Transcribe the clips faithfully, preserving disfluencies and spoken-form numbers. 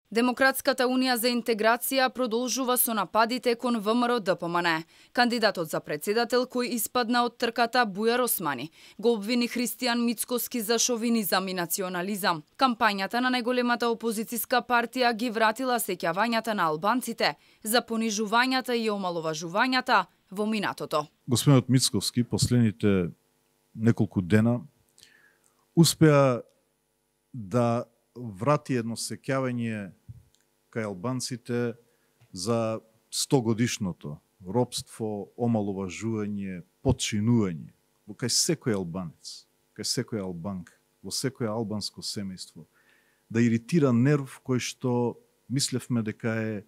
Демократската унија за интеграција продолжува со нападите кон ВМРО Д П М Н. Кандидатот за председател кој испадна од трката Бујар Османи го обвини Христијан Мицкоски за шовинизам и национализам. Кампањата на најголемата опозицијска партија ги вратила сеќавањата на албанците за понижувањата и омаловажувањата во минатото. Господинот Мицковски последните неколку дена успеа да врати едно сеќавање кај албанците за стогодишното робство, омаловажување, подчинување во кај секој албанец, кај секој албанка, во секој албанско семејство, да иритира нерв кој што мислевме дека е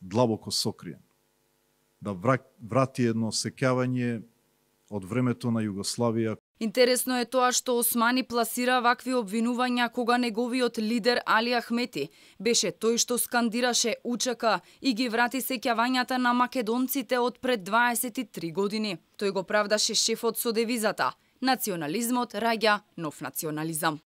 длабоко сокриен. Да врати едно сеќавање од времето на Југославија. Интересно е тоа што Османи пласира вакви обвинувања кога неговиот лидер Али Ахмети беше тој што скандираше У Ч К и ги врати сеќавањата на македонците од пред дваесет и три години. Тој го правдаше шефот со девизата: национализмот раѓа нов национализам.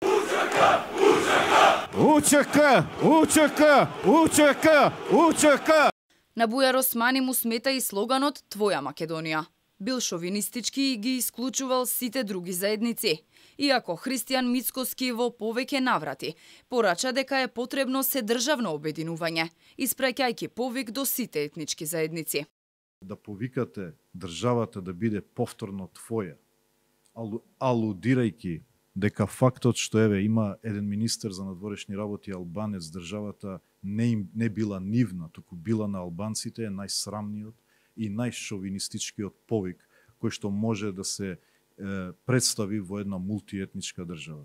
У Ч К, У Ч К, У Ч К, У Ч К. На Бујар Османи му смета и слоганот Твоја Македонија. Бил шовинистички и ги исклучувал сите други заедници. Иако Христијан Мицкоски во повеќе наврати порача дека е потребно седржавно обединување, испраќајќи повик до сите етнички заедници. Да повикате државата да биде повторно твоја, алу, алудирајќи дека фактот што еве има еден министер за надворешни работи албанец, државата не им не била нивна, туку била на албанците, е најсрамниот и најшовинистичкиот повик кој што може да се е, представи во една мултиетничка држава.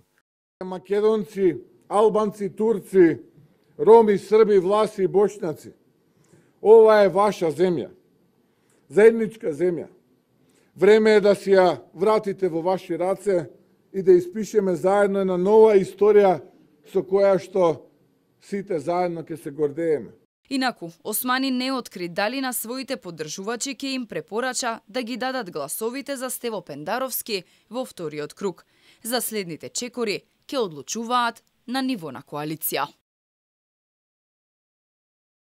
Македонци, албанци, турци, роми, срби, власи и бошњаци. Ова е ваша земја. Заедничка земја. Време е да си ја вратите во ваши раце и да испишеме заедно една нова историја со која што сите заедно ќе се гордееме. Инаку, Османи не откри дали на своите поддржувачи ќе им препорача да ги дадат гласовите за Стево Пендаровски во вториот круг. За следните чекори ќе одлучуваат на ниво на коалиција.